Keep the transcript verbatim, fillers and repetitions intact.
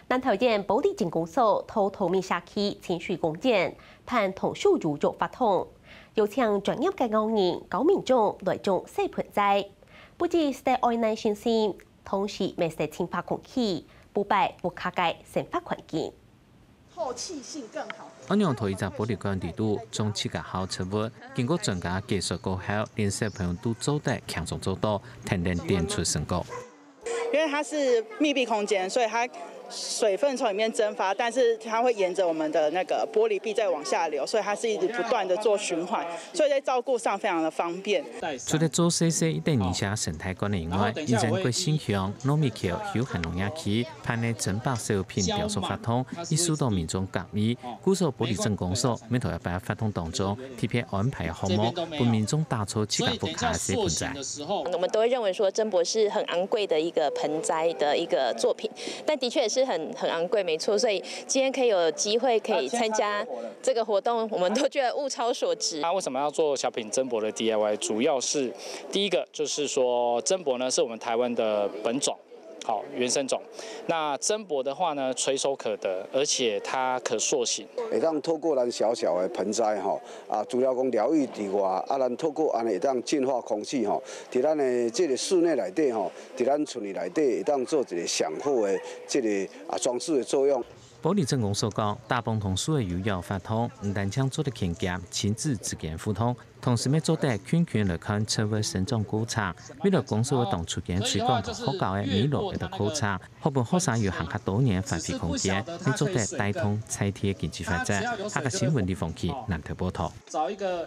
南投縣埔里鎮公所在桃米社區清水公園辦童手搖浴活動，邀請專業个藝人教民眾來裝細盆栽，不止使得愛耐心心，同時乜使淨化空氣，保護屋下个生活環境。透氣性更好。阿娘在一隻玻璃罐底肚種自家好植物，經過專家解說過後，連小朋友都做得輕鬆做到，天天展出成果。因为它是密闭空间，所以它水分从里面蒸发，但是它会沿着我们的那个玻璃壁再往下流，所以它是一直不断的做循环，所以在照顾上非常的方便。除了做細細一等一下生态馆以外，以前个新鄉糯米橋休閒農業區辦个珍寶小品雕塑活動，已受到民众感意。故所玻璃鎮公所每頭一擺活动当中，特别安排个項目，分民众打造自家屋下个小盆栽。我们都会认为说，珍博是很昂贵的一个盆栽的一个作品，但的确也是很很昂贵，没错。所以今天可以有机会可以参加这个活动，我们都觉得物超所值。那为什么要做小品珍博的 D I Y？主要是第一个就是说，珍博呢是我们台湾的本种。好，原生种。那珍博的话呢，垂手可得，而且它可塑形。会当透过咱小小的盆栽吼，啊，除了讲疗愈之外，啊，咱透过安尼会当净化空气吼，在咱的这个室内内底吼，在咱厝里内底会当做一个上好的这个啊装饰的作用。玻璃镇公所讲，大埔童手个摇浴活动，毋單淨做得勤儉亲子之间互动，同時乜做得近距離來看植物生长过程。未來公所會同出現推廣同學校个美樂个課程，好分學生有行較多元个發揮空间，乜做得帶动在地个经济发展。客家新闻李鳳琪南投报道。找一个